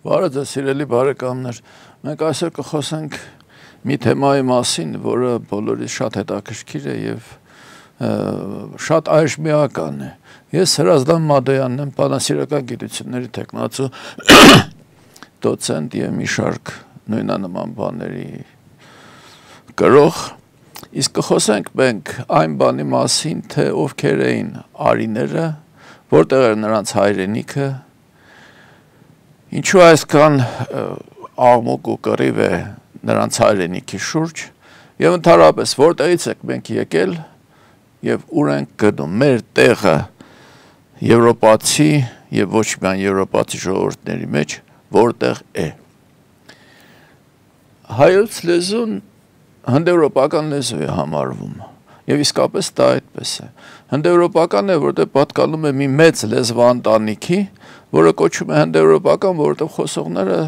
Բարև ձեզ, սիրելի բարեկամներ, մենք այսօր կխոսենք մի թեմայի մասին, որը բոլորիս շատ հետաքրքիր է եւ շատ այժմիական է։ Ես Հրազդան Մադոյանն եմ, բանասիրական գիտությունների թեկնածու դոցենտ եւ մի շարք նույնանման բաների գրող, իսկ կխոսենք մենք այն բանի մասին, թե ովքեր էին արիները, որտեղ էր նրանց հայրենիքը, ինչու այսքան աղմուկ ու կռիվ է նրանց հայրենիքի շուրջ եւ ընդհանրապես որտեղից եք մենք եկել եւ ուր ենք գնում մեր տեղը եվրոպացի եւ ոչ միայն եվրոպացի ժողովուրդների մեջ որտեղ է հայոց լեզուն հնդեվրոպական լեզու է համարվում եւ իսկապես դա այդպես է հնդեվրոպական է որտեղ պատկանում է մի մեծ լեզվաընտանիքի որը կոչվում է հնդեվրոպական, որովհետև խոսողները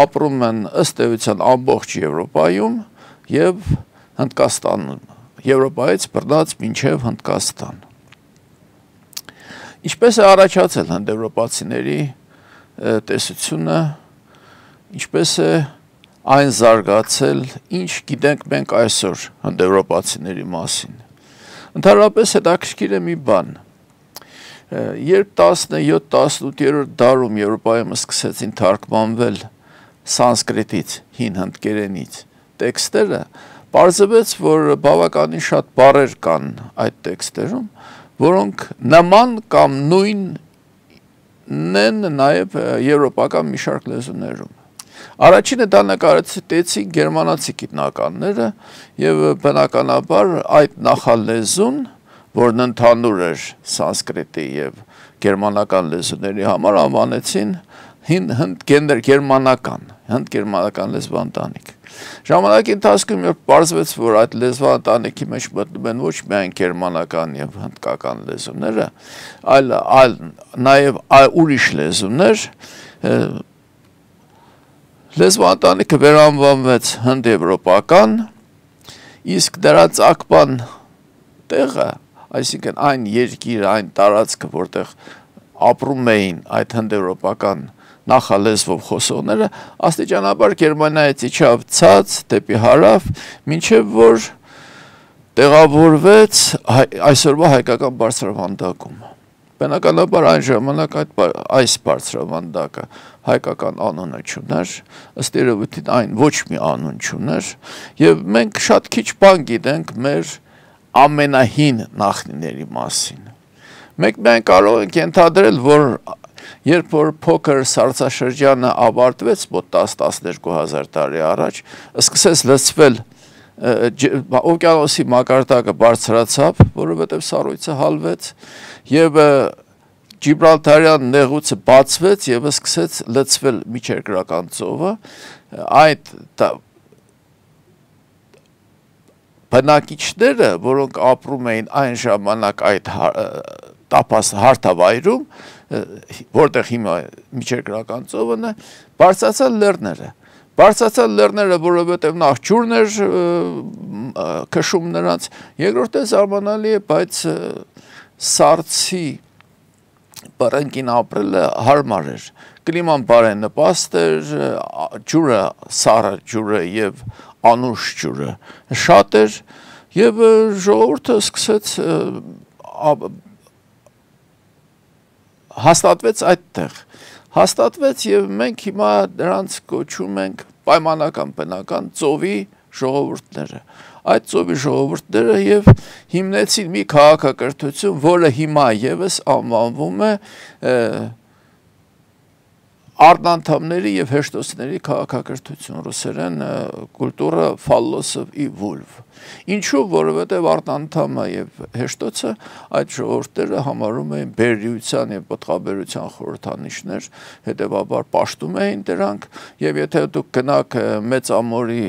ապրում են ըստ էության ամբողջ Եվրոպայում եւ Հնդկաստանում, Եվրոպայից բռնած մինչեւ Հնդկաստան։ Ինչպես է առաջացել հնդեվրոպացիների տեսությունը, ինչպես է այն զարգացել, ինչ գիտենք մենք այսօր հնդեվրոպացիների մասին։ Ընդհանրապես հետաքրքիր է մի բան։ Երբ 17-18-րդ դարում Եվրոպայում սկսեցին թարգմանվել սանսկրիտից, հին հնդկերենից տեքստերը, պարզվեց, որ բավականին շատ բառեր կան այդ տեքստերում, որոնք նման կամ նույնն են նաև եվրոպական մի շարք լեզուներում։ Առաջինը դա նկարեցին գերմանացի գիտնականները եւ բնականաբար այդ նախալեզուն որն ընդհանուր էր սանսկրիտի եւ գերմանական լեզուների համար անվանեցին հնդգերմանական լեզվաընտանիք։ Ժամանակի ընթացքում երբ պարզվեց, որ այդ լեզվաընտանիքի մեջ մտնում են ոչ միայն գերմանական եւ հնդկական լեզուները, այլ նաեւ ուրիշ լեզուներ, լեզվաընտանիքը վերանվանվեց հնդեվրոպական, իսկ դրա ծագման տեղը այսինքն այն երկիրը, այն տարածքը, որտեղ ապրում էին այդ հնդեվրոպական նախալեզվով խոսողները, աստիճանաբար Գերմանիայից իջավ ցած դեպի հարավ, մինչև որ տեղավորվեց այսօրվա հայկական բարձրավանդակում։ Բնականաբար այն ժամանակ այս բարձրավանդակը հայկական անունը չուներ, ըստ երևույթին այն ոչ մի անուն չուներ, եւ մենք շատ քիչ բան գիտենք մեր ամենահին նախնիների մասին։ Մենք միայն կարող ենք ենթադրել, որ երբ որ փոքր սառցաշրջանը ավարտվեց մոտ 10-12 հազար տարի առաջ, սկսեց լցվել օվկիանոսի մակարդակը բարձրացավ, որովհետև սառույցը հալվեց եւ Ջիբրալթարյան նեղուցը բացվեց եւ սկսեց լցվել միջերկրական ծովը, այդ բնակիչները, որոնք ապրում էին այն ժամանակ այդ տափած հարթավայրում, որտեղ հիմա միջերկրական ծովն է, բարձրացան լեռները։ Բարձրացան լեռները, որովհետև նախ ջուրն էր քշում նրանց, երկրորդը զարմանալի է, բայց սառցի բռնկին ապրելը հարմար էր։ Կլիման բարենպաստ էր, ջուրը, սառը ջուրը եւ անուշ ջուրը շատ էր եւ ժողովուրդը սկսեց հաստատվեց այդտեղ։ Հաստատվեց եւ մենք հիմա նրանց կոչում ենք պայմանական բնական ծովի ժողովուրդները։ Այդ ծովի ժողովուրդները եւ հիմնեցին մի քաղաքակրթություն, որը հիմա եւս անվանվում է Արնանդամների եւ հեշտոցների քաղաքակրթություն ռուսերեն կուլտուրա ֆալլոսով ի վոլվ։ Ինչու, որովհետեւ Արնանդամը եւ հեշտոցը այդ ժողովուրդները համարում էին բերրիության եւ պտղաբերության խորհրդանիշներ, հետեւաբար պաշտում էին դրանք եւ եթե դուք գնաք Մեծ ամորի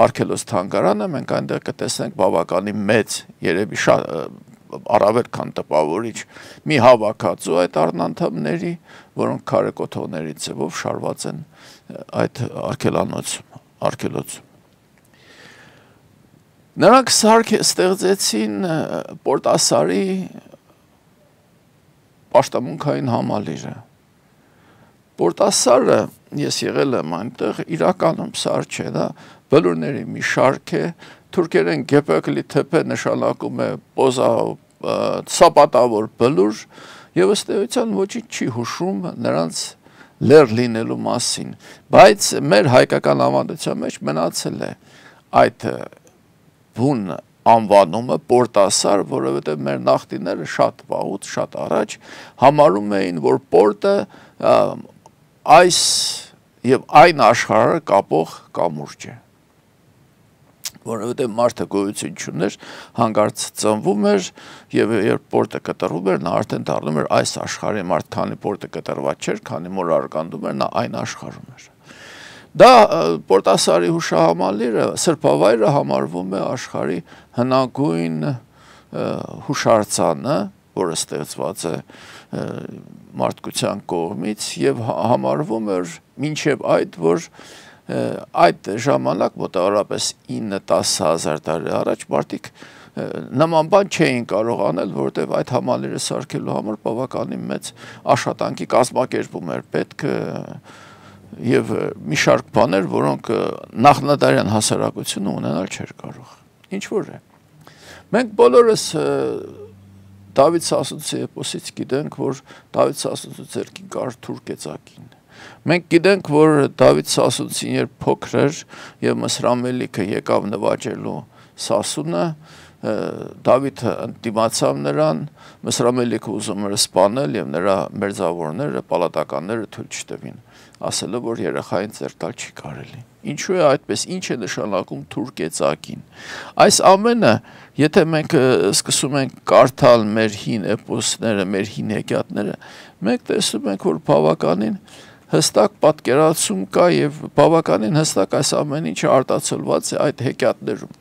Արգելոց թանգարանը, մենք այնտեղ կտեսնենք բավականին մեծ, երևի առավել քան տպավորիչ մի հավաքածու այդ արնանդամների, որոնք քարեկոթողների ձևով շարված են այդ արգելոցում։ Նրանք ստեղծեցին Պորտասարի պաշտամունքային համալիրը, Պորտասարը ես եղել եմ այնտեղ, իրականում սար չէ, դա բլուրների մի շարք է, թուրքերեն գեպեկլի թեփե նշանակում է սապատավոր բլուր, եւ ըստ էության ոչինչ չի հուշում նրանց լեր լինելու մասին, բայց մեր հայկական ավանդության մեջ մնացել է այդ բուն անվանումը պորտասար, որովհետև մեր նախնիները շատ վաղուց, շատ առաջ համարում էին, որ պորտը այս եւ այն աշխարհը կապող կամուրջ է, որովհետև մարդը գոյություն չուներ, հանկարծ ծնվում էր եւ երբ պորտը կտրվում էր, նա արդեն դառնում էր այս աշխարհի մարդ, քանի պորտը կտրված չէր, քանի որ արգանդում էր, նա այն աշխարհում էր։ Դա պորտասարի հուշահամալիրը, սրբավայրը համարվում է աշխարհի հնագույն հուշարձանը, որը ստեղծված է մարդկության կողմից եւ համարվում էր մինչեւ այդ, որ այդ ժամանակ մոտավորապես 9-10 հազար տարի առաջ մարդիկ նման բան չէին կարող անել, որովհետև այդ համալիրը սարքելու համար բավականին մեծ աշխատանքի կազմակերպում էր պետք եւ մի շարք բաներ, որոնք նախնադարյան հասարակությունը ունենալ չէր կարող։ Ինչ որ է։ Մենք բոլորս Դավիթ Սասունցի էպոսից գիտենք, որ Դավիթ Սասունցու ձեռքին կար թուրքեծակին։ Մենք գիտենք, որ Դավիթ Սասունցին երբ փոքր էր եւ Մսրամելիքը եկավ նվաճելու Սասունը, Դավիթը ընդդիմացավ նրան, Մսրամելիքը ուզում էր սպանել եւ նրա մերձավորները, պալատականները թույլ չտվին, ասելով, որ երեխային ձեռքալ չի կարելի։ Ինչու է այդպես, ինչ է նշանակում թուրքեծակին։ Այս ամենը, եթե մենք սկսում ենք կարդալ մեր հին էպոսները, մեր հին հեքիաթները, մենք տեսնում ենք, որ բավականին հստակ պատկերացում կա եւ բավականին հստակ այս ամեն ինչը արտացոլված է այդ հեքիաթներում։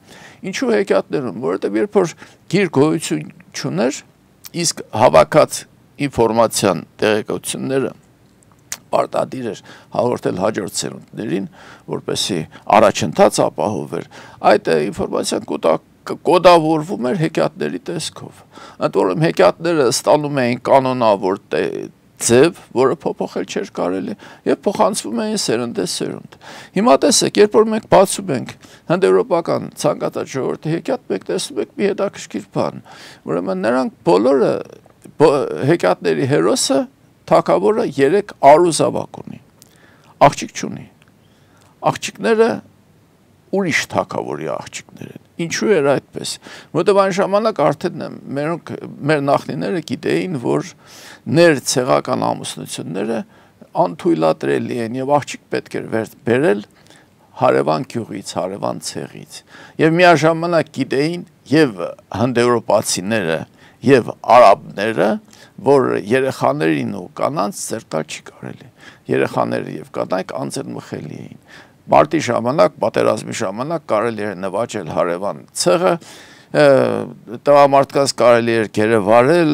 Ինչու հեքիաթներում, որովհետեւ երբ որ գիր գոյություն չուներ, իսկ հավաքած ինֆորմացիան տեղեկությունները պարտադիր էր հաղորդել հաջորդ սերունդներին, որպեսզի առաջընթաց ապահովեր, այդ ինֆորմացիան կոդավորվում էր հեքիաթների տեսքով։ Ընդ որում հեքիաթները ստանում էին կանոնավոր ձև, որը փոփոխել չէր կարելի, եւ փոխանցվում էին սերնդես սերունդ։ Հիմա տեսեք, երբ որ մենք բացում ենք հնդեվրոպական ցանկացած ժողովրդի հեքիաթ, մենք տեսնում ենք մի հետաքրքիր բան, ուրեմն նրանք բոլորը հեքիաթների հերոսը թագավորը 3 արուզավակ ունի, աղջիկ չունի, աղջիկները ուրիշ թագավորի աղջիկներ են, ինչու էր այդպես, որտեղ այն ժամանակ արդեն մեր նախնիները գիտեին, որ ներցեղական ամուսնությունները անթույլատրելի են եւ աղջիկ պետք էր բերել հարևան գյուղից, հարևան ցեղից եւ միաժամանակ գիտեին եւ հնդեվրոպացիները եւ արաբները, որ երեխաներին ու կանանց ձեռքալ չի կարելի, երեխաները եւ կանայք անձեռնմխելի էին։ Մարտի ժամանակ, պատերազմի ժամանակ կարելի էր նվաճել հարևան ցեղը, տղամարդկանց կարելի էր գերեվարել,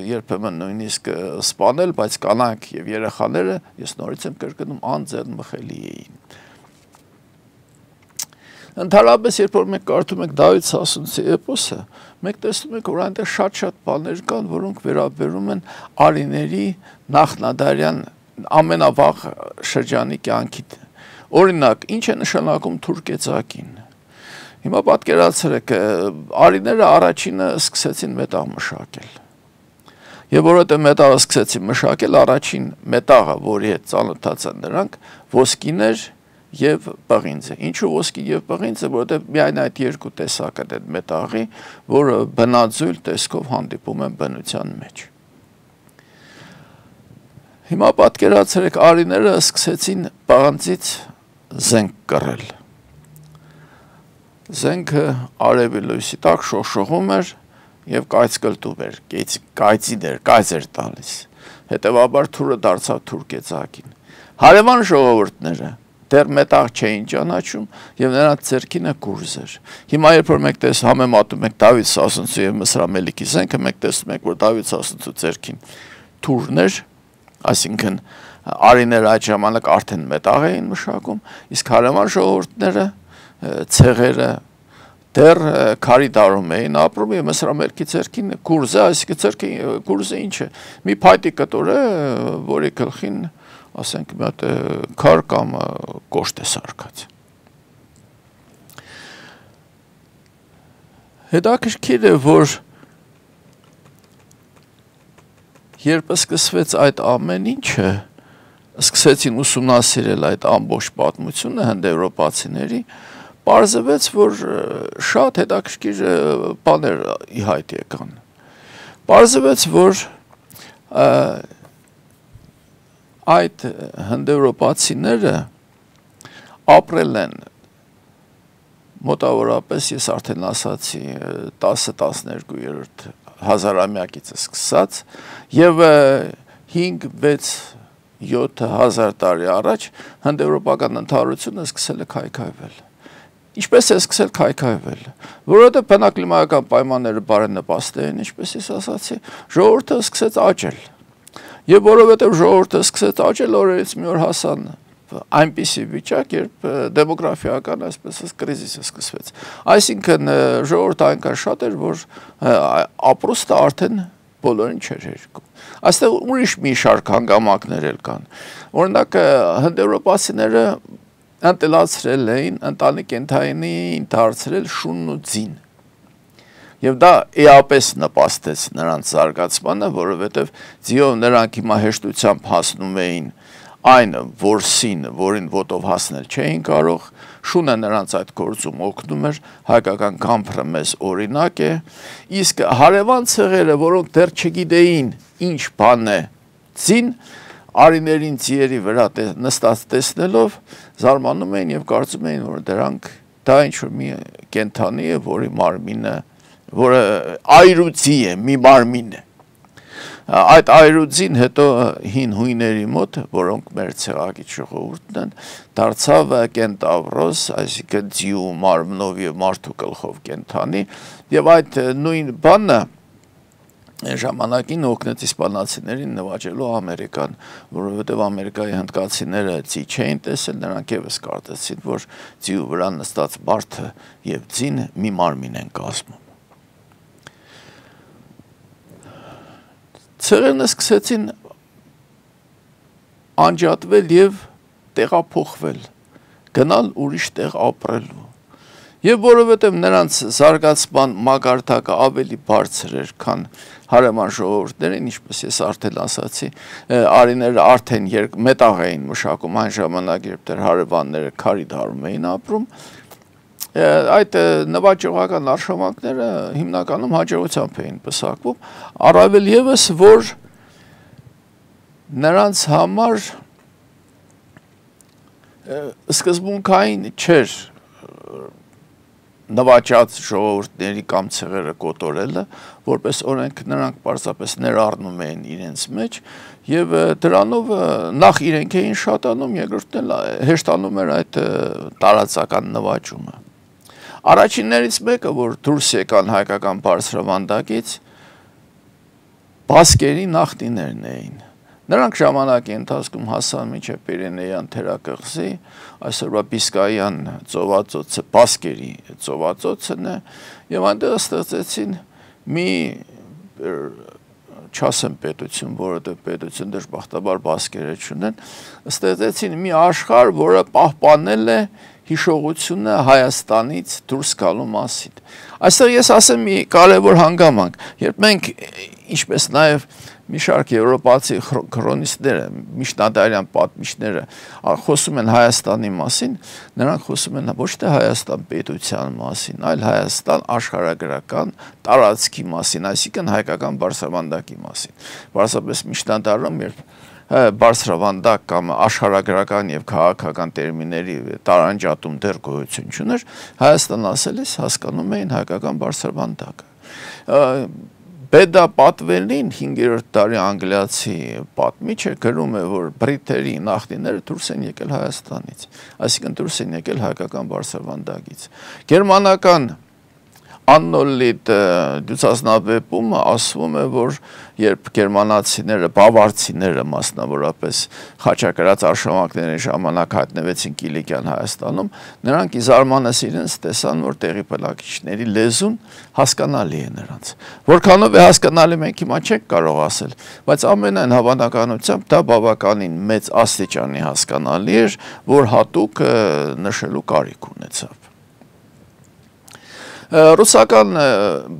երբեմն նույնիսկ սպանել, բայց կանայք եւ երեխաները, ես նորից եմ կրկնում, անձեռնմխելի էին։ Ընդհանրապես, երբ որ մենք կարդում ենք Դավիթ Սասունցի էպոսը, մենք տեսնում ենք, որ այնտեղ շատ բաներ կան, որոնք վերաբերում են արիների նախնադարյան ամենավաղ շրջանի կյանքին։ Օրինակ, ինչ է նշանակում թուրքեծակին։ Հիմա պատկերացրեք, արիները առաջինը սկսեցին մետաղ մշակել։ Եվ որովհետև մետաղը սկսեցին մշակել, առաջին մետաղը, որի հետ ծանոթացան նրանք, ոսկին էր եւ պղինձը։ Ինչու ոսկի եւ պղինձը, որովհետեւ միայն այդ երկու տեսակն են մետաղի, որը բնաձույլ տեսքով հանդիպում են բնության մեջ։ Հիմա պատկերացրեք, արիները սկսեցին պղնձից զենք կռել։ Զենքը արևի լույսի տակ շողշողում էր եւ կայծկլտում էր, կայծ էր տալիս։ Հետևաբար թուրը դարձավ թուրքեծակին։ Հարևան ժողովուրդները դեռ մետաղ չէին ճանաչում եւ նրանց ձեռքինը գուրզ էր։ Հիմա երբ որ մենք համեմատում ենք Դավիթ Սասունցու եւ Մսրամելիքի զենքը, մենք տեսնում ենք, որ Դավիթ Սասունցու ձեռքին թուրն էր, այսինքն արիները այդ ժամանակ արդեն մետաղ էին մշակում, իսկ հարևան ժողովուրդները, ցեղերը դեռ քարի դարում էին ապրում եւ Մսրամելիքի ձեռքին գուրզը, այսինքն ձեռքի գուրզը ինչ է, մի փայտի կտոր է, որի գլխին ասենք մի հատ քար կամ կոշտ է սարքած։ Հետաքրքիր է, որ երբ սկսվեց այդ ամեն ինչը, սկսեցին ուսումնասիրել այդ ամբողջ պատմությունը հնդեվրոպացիների, պարզվեց, որ շատ հետաքրքիր բաներ ի հայտ եկան։ Պարզվեց, որ այդ հնդեվրոպացիները ապրել են մոտավորապես, ես արդեն ասացի, 10-12-րդ հազարամյակից սկսած եւ 5-6-7 հազար տարի առաջ հնդեվրոպական ընդհանրությունը սկսել է քայքայվել։ Ինչպես է սկսել քայքայվել, որովհետև բնակլիմայական պայմանները բարենպաստ էին, ինչպես ես ասացի, ժողովուրդը սկսեց աճել։ Եվ որովհետև ժողովուրդը սկսեց աճել, օրերից մի օր հասան այնպիսի վիճակ, երբ դեմոգրաֆիական, այսպես կրիզիսը սկսվեց։ Այսինքն ժողովուրդը այնքան շատ էր, որ ապրուստը արդեն բոլորին չէր հերիքում։ Այստեղ ուրիշ մի շարք հանգամանքներ էլ կան։ Օրինակ հնդեվրոպացիները ընտելացրել էին, ընտանի կենդանին դարձրել շունն ու ձին։ Եվ դա էապես նպաստեց նրանց զարգացմանը, որովհետև ձիով նրանք հիմա հեշտությամբ հասնում էին այն որսին, որին ոտով հասնել չէին կարող, շունը նրանց այդ գործում օգնում էր, հայկական գամբրը մեզ օրինակ է, իսկ հարևան ցեղերը, որոնք դեռ չգիտեին ինչ բան է ձին, արիներին ձիերի վրա նստած տեսնելով զարմանում էին եւ կարծում էին, որ դրանք դա ինչ-որ մի կենդանի է, որի մարմինը, որը այրուձի է, մի մարմին է։ Այդ այրուձին հետո հին հույների մոտ, որոնք մեր ցեղակից ժողովուրդն են, դարձավ կենտավրոս, այսինքն ձիու մարմնով եւ մարդու գլխով կենդանի, եւ այդ նույն բանը ժամանակին օգնեց իսպանացիներին նվաճելու Ամերիկան, որովհետև Ամերիկայի հնդկացիները ձի չէին տեսել, նրանք եւս կարծեցին, որ ձիու վրա նստած մարդը եւ ձին մի մարմին են կազմում։ Ցեղերն սկսեցին անջատվել եւ տեղափոխվել, գնալ ուրիշ տեղ ապրելու։ Եվ որովհետև նրանց զարգացման մակարդակը ավելի բարձր էր, քան հարևան ժողովուրդներին, ինչպես ես արդեն ասացի, արիները արդեն մետաղ էին մշակում այն ժամանակ, երբ դեռ հարևանները քարի դարում էին ապրում, այդ նվաճողական արշավանքները հիմնականում հաջողությամբ էին պսակվում, առավել ևս, որ նրանց համար սկզբունքային չէր նվաճած ժողովուրդների կամ ցեղերը կոտորելը, որպես օրենք նրանք պարզապես ներառնում էին իրենց մեջ եւ դրանով նախ իրենք էին շատանում, երկրորդն էլ հեշտանում էր այդ տարածական նվաճումը։ Առաջիններից մեկը, որ դուրս եկան հայկական բարձրավանդակից, բասկերի նախնիներն էին։ Նրանք ժամանակի ընթացքում հասան մինչև Պիրենեյան թերակղզի, այսօրվա Բիսկայյան ծովածոցը բասկերի ծովածոցն է, եւ այնտեղ ստեղծեցին մի չասեմ պետություն, որովհետև պետություն դժբախտաբար բասկերը չունեն, ստեղծեցին մի աշխարհ, որը պահպանել է հիշողությունը Հայաստանից դուրս գալու մասին։ Այստեղ ես ասեմ մի կարևոր հանգամանք, երբ մենք, ինչպես նաև մի շարք եվրոպացի քրոնիստները, միջնադարյան պատմիչները խոսում են Հայաստանի մասին, նրանք խոսում են ոչ թե Հայաստան պետության մասին, այլ Հայաստան աշխարհագրական տարածքի մասին, այսինքն հայկական բարձրավանդակի մասին։ Պարզապես միջնադարում, երբ բարձրավանդակ կամ աշխարհագրական եւ քաղաքական տերմինների տարանջատում դեռ գոյություն չուներ, Հայաստան ասելիս հասկանում էին հայկական բարձրավանդակը։ Բեդա պատվելին 5-րդ դարի անգլիացի պատմիչը գրում է, որ բրիտերի նախնիները դուրս են եկել Հայաստանից, այսինքն դուրս են եկել հայկական բարձրավանդակից։ Գերմանական աննոլիտ դյուցասնաբեպումը ասվում է, որ երբ գերմանացիները, բավարցիները մասնավորապես խաչակրած արշավանքների ժամանակ հայտնվեցին Կիլիկյան Հայաստանում, նրանք ի զարմանս իրենց տեսան, որ տեղի բնակիչների լեզուն հասկանալի է նրանց։ Որքանով է հասկանալի մենք հիմա չենք կարող ասել, բայց ամենայն հավանականությամբ դա բավականին մեծ աստիճանի հասկանալի էր, որ հատուկ նշելու կարիք ունեցավ։ Ռուսական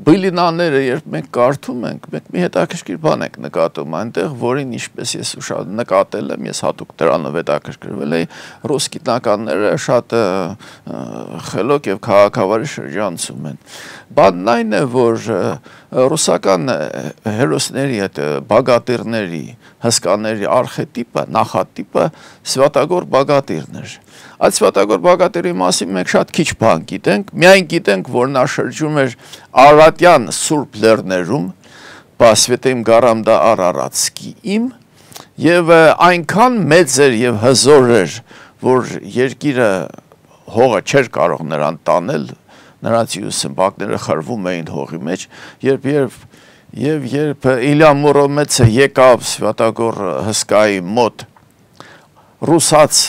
բիլինաները, երբ մենք կարդում ենք, մենք մի հետաքրքիր բան ենք նկատում այնտեղ, որին ինչպես ես նկատել եմ, ես հատուկ դրանով հետաքրքրվել էի, ռուս գիտնականները շատ խելոք եւ քաղաքավարի շրջանցում են։ Բանն այն է, որ ռուսական հերոսների այդ բագատիրների, հսկաների արխետիպը, նախատիպը Սվատագոր բագատիրն էր։ Այդ Սվատագոր բագատիրի մասին մենք շատ քիչ բան գիտենք, միայն գիտենք, որ նա շրջում էր Արարատյան Սուրբ Լեռներում, Բասվետեմ Գարամ դա Արարատսկի իմ, եւ այնքան մեծ էր եւ հզոր էր, որ երկիրը հողը չէր կարող նրան տանել, նրանց սմբակները խրվում էին հողի մեջ, երբ Իլյա Մուրոմեցը եկավ Սվատագոր հսկայի մոտ ռուսաց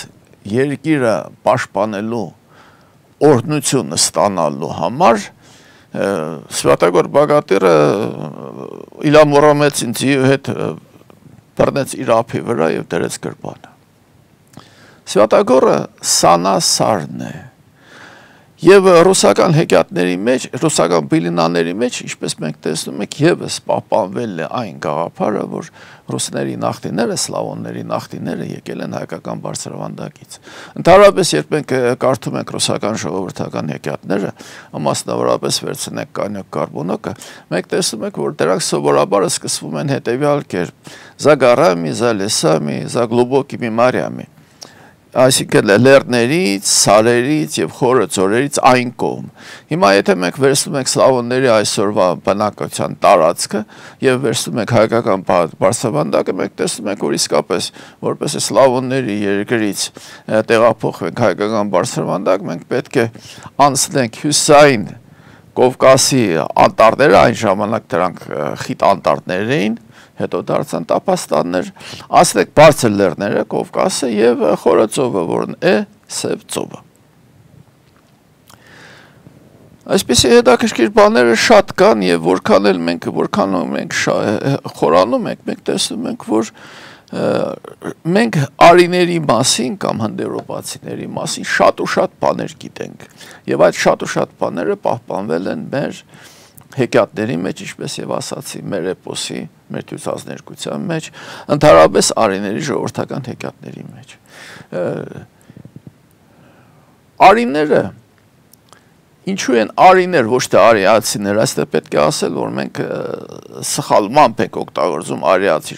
երկիրը պաշտպանելու օրհնությունը ստանալու համար, Սվատագոր բագատիրը Իլյա Մուրոմեցին ձիու հետ բռնեց իր ափի վրա եւ դրեց գրպանը։ Սվատագորը սանասարն է։ Եվ ռուսական հեքիաթների մեջ, ռուսական բիլինաների մեջ, ինչպես մենք տեսնում ենք, եւս պահպանվել է այն գաղափարը, որ ռուսների նախնիները, սլավոնների նախնիները եկել են հայկական բարձրավանդակից։ Ընդհանրապես, երբ մենք կարդում ենք ռուսական ժողովրդական հեքիաթները, մասնավորապես վերցնենք Կանյոկ Կարբոնոկը, մենք տեսնում ենք, որ դրանք սովորաբար սկսվում են հետևյալ կերպ. «За горами, за лесами, за глубокими морями». Այսինքն լեռներից, սարերից եւ խորը ծորերից այն կողմ։ Հիմա եթե մենք վերցնում ենք սլավոնների այսօրվա բնակության տարածքը եւ վերցնում ենք հայկական բարձրավանդակը, մենք տեսնում ենք, որ իսկապես որպես սլավոնների երկրից տեղափոխվենք հայկական բարձրավանդակ, մենք պետք է անցնենք հյուսային Կովկասի անտառները, այն ժամանակ դրանք խիտ անտառներ էին, հետո դարձան տափաստաններ, ասենք բարձր լեռները, Կովկասը եւ խորը ծովը, որն է Սև ծովը։ Այսպիսի հետաքրքիր բաները շատ կան եւ որքան մենք խորանում ենք, մենք տեսնում ենք, որ մենք արիների մասին կամ հնդեվրոպացիների մասին շատ ու շատ բաներ գիտենք եւ այդ շատ ու շատ բաները պահպանվել են մեր հեքիաթների մեջ, ինչպես եւ ասացի, մեր էպոսի, մեր դյուցազներկության մեջ, ընդհանրապես արիների ժողովրդական հեքիաթների մեջ։ Արիները ինչու են արիներ, ոչ թե արիացիներ, այստեղ պետք է ասել, որ մենք սխալմամբ ենք օգտագործում արիացի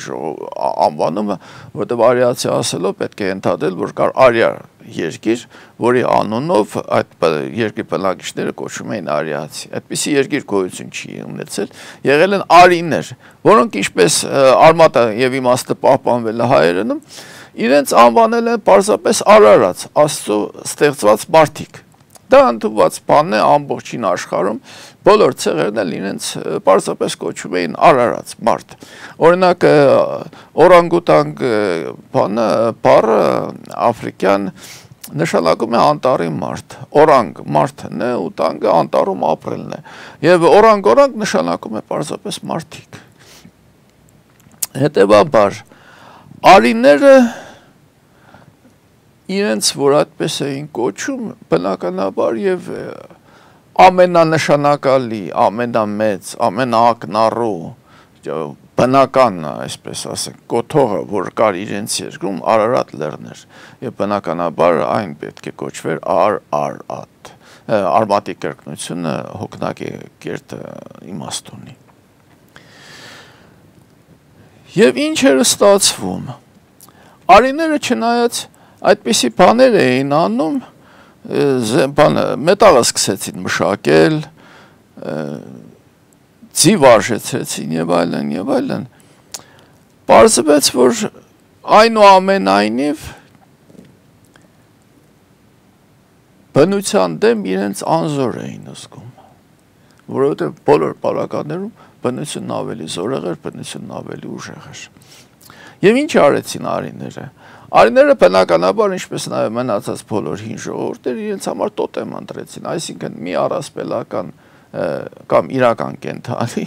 անվանումը, որտեղ արիացի ասելով պետք է ընդհատել, որ կար արիա երկիր, որի անունով այդ երկրի բնակիչները կոչվում էին արիացի։ Այդպիսի երկիր գոյություն չի ունեցել, եղել են արիներ, որոնք ինչպես արմատը եւ իմաստը պահպանվել է հայերենում, իրենց անվանել են պարզապես Արարած, Աստծո ստեղծված մարդիկ։ Դա ընդունված բան է ամբողջին աշխարհում, բոլոր ցեղերն էլ իրենց պարզապես կոչում էին Արարած մարդ։ Օրինակ օրանգուտանգ բառը աֆրիկյան նշանակում է անտառի մարդ, օրանգ մարդն է ու տանգը անտառում ապրելն է, եւ օրանգ նշանակում է պարզապես մարդիկ։ Հետևաբար արիները իրենց որ այդպես էին կոչում, բնականաբար եւ ամենանշանակալի, ամենամեծ, ամենաակնառու բնական, այսպես ասենք, կոթողը, որ կար իրենց երկրում, Արարատ լեռն էր, եւ բնականաբար այն պետք է կոչվեր Արարատ։ Արմատի կրկնությունը հոգնակի կերտ իմաստ ունի։ Եվ ինչ էր ստացվում։ Արիները չնայած այդպիսի բաներ էին անում, մետաղը սկսեցին մշակել, ձիվ արժեցրեցին եւ այլն, պարզվեց, որ այնուամենայնիվ բնության դեմ իրենց անզոր էին զգում, որովհետև բոլոր պարագաներում բնությունն ավելի զորեղ էր, բնությունն ավելի ուժեղ էր։ Եվ ինչ արեցին արիները։ Արիները բնականաբար, ինչպես նաև մնացած բոլոր հին ժողովուրդները իրենց համար տոտեմ ընտրեցին, այսինքն մի առասպելական կամ իրական կենդանի,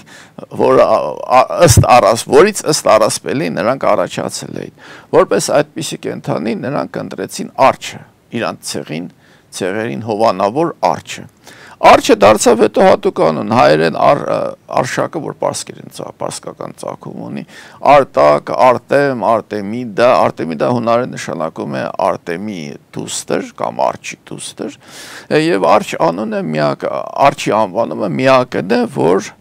որից ըստ առասպելի նրանք առաջացել էին։ Որպես այդպիսի կենդանի նրանք ընտրեցին արջը, իրանց ցեղերին հովանավոր արջը։ Արջը դարձավ հետո հատուկ անուն, հայերեն արշակը, որ պարսկական ծագում ունի, արտակ, արտեմ, արտեմիդա հունարեն նշանակում է արտեմի դուստր կամ արջի դուստր, եւ արջի անվանումը միակն է, որ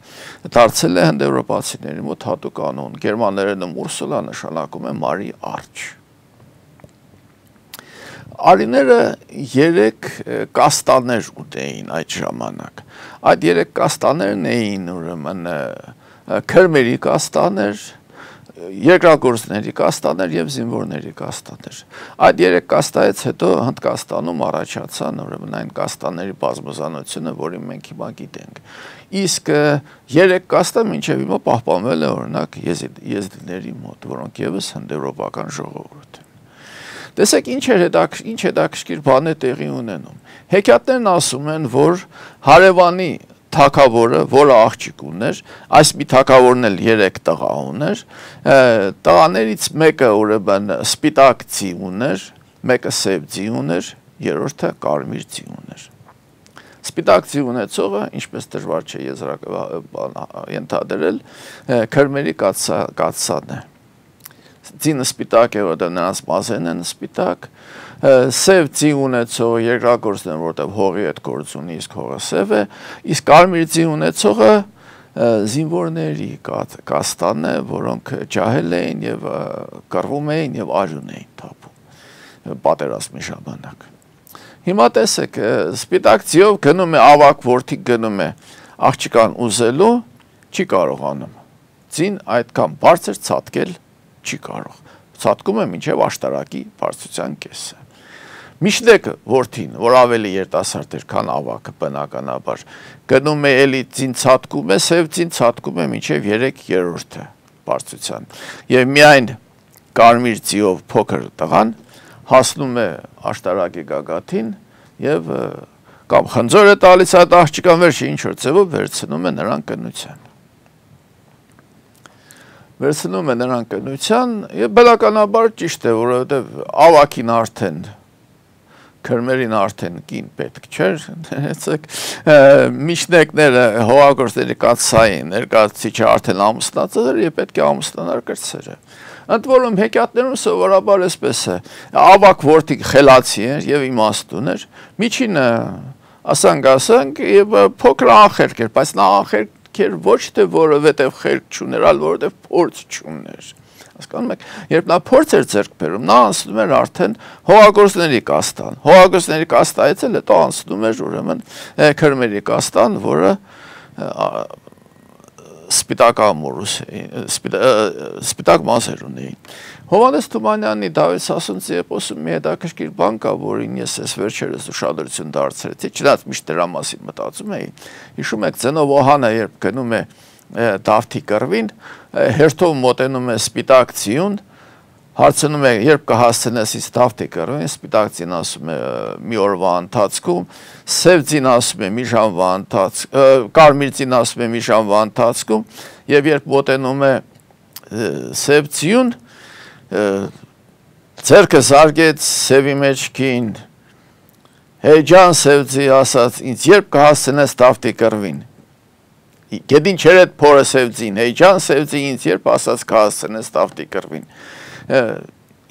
դարձել է հնդեվրոպացիների մոտ հատուկ անուն, գերմաներենում Ուրսուլա նշանակում է Մարի արջ։ Արիները 3 կաստաներ ուտեին այդ ժամանակ։ Այդ 3 կաստաներն էին ուրեմն քրմերի կաստաներ, երկրագործների կաստաներ եւ զինվորների կաստաներ։ Այդ 3 կաստայից հետո Հնդկաստանում առաջացան ուրեմն այն կաստաների բազմազանությունը, որին մենք հիմա գիտենք։ Իսկ 3 կաստը մինչև հիմա պահպանվել է օրինակ եզդիների մոտ, որոնք եւս հնդեվրոպական ժողովուրդ են։ Տեսեք ինչ հետաքրքիր բան է տեղի ունենում։ Հեքիաթներն ասում են, որ հարևանի թագավորը, որը աղջիկ ուներ, այս մի թագավորն էլ 3 տղա ուներ, տղաներից մեկը ուրեմն սպիտակ ձի ուներ, մեկը սև ձի ուներ, երրորդը կարմիր ձի ուներ։ Սպիտակ ձի ունեցողը, ինչպես դժվար չէ ենթադրել, քրմերի կաթսան է։ Ձինը սպիտակ է, որտեղ նրանց մազերն են սպիտակ, սև ձի ունեցողը երկրագործն է, որտեղ հողի հետ գործ ունի, իսկ հողը սև է, իսկ կարմիր ձի ունեցողը զինվորների կաստան է, որոնք ջահել էին եւ կռվում էին եւ արյուն էին թափում պատերազմի ժամանակ։ Հիմա տեսեք, սպիտակ ձիով գնում է ավակ որդի գնում է աղջկան ուզելու, չի կարողանում։ Ձին այդքան բարձր ցատկել չի կարող, ցատկում է մինչև աշտարակի բարձրության կեսը։ Միշտեկը որդին, որ ավելի երիտասարդ էր, քան ավակը բնականաբար, գնում է էլի ձին ցատկում է, սև ձին ցատկում է մինչև 3/3 բարձրության։ Եվ միայն կարմիր ձիով փոքր տղան հասնում է աշտարակի գագաթին եւ կամ խնձոր է տալիս այդ աղջկան վերջը ինչ որ ձևով վերցնում է նրան կնության։ Վերցնում է նրան կնության եւ բնականաբար ճիշտ է, որովհետեւ ավակին արդեն քրմերին արդեն կին պետք չէր, ներեցեք, միջնեկները հողագործների կաթսային ներկայացուցիչը արդեն ամուսնացել էր եւ պետք է ամուսնանար կրտսերը։ Ընդ որում հեքիաթներում սովորաբար էսպես է, ավակ որդի խելացի էր եւ իմաստուն էր, միջինը ասանք եւ փոքր անխելք էր, բայց նա անխելք էր ոչ թե որովհետեւ խելք չուներ, այլ որովհետեւ փորձ չուներ։ Հասկանում եք, երբ նա փորձ էր ձեռք բերում, նա անցնում էր արդեն հողագործների կաստան։ Հողագործների կաստայից էլ հետո անցնում էր ուրեմն քրմերի կաստան, որը սպիտակ մազեր ունեին։ Հովհաննես Թումանյանի Դավիթ Սասունցի էպոսում մի հետաքրքիր բան կա, որին ես վերջերս ուշադրություն դարձրեցի, չնայած միշտ դրա մասին մտածում էի։ Հիշում եք Ձենովոհանը, երբ գնում է Դավթի կռվին, հերթով մոտենում է սպիտակ ձիուն, հարցնում է, երբ կհասցնես ինձ Դավթի կռվին, սպիտակ ձին ասում է մի օրվա ընթացքում, սև ձին ասում է մի ժամվա ընթացքում, կարմիր ձին ասում է մի ժամվա ընթացքում, եւ երբ մոտենում է սև ձիուն, ձեռքը զարկեց սևի մեջքին, հեյ ջան սև ձի ասաց, ինձ երբ կհասցնես Դավթի կռվին։ Գետին չեր էդ փորը սև ձին, հեյ ջան սև ձի ինձ երբ ասաց կհասցնես Դավթի կռվին։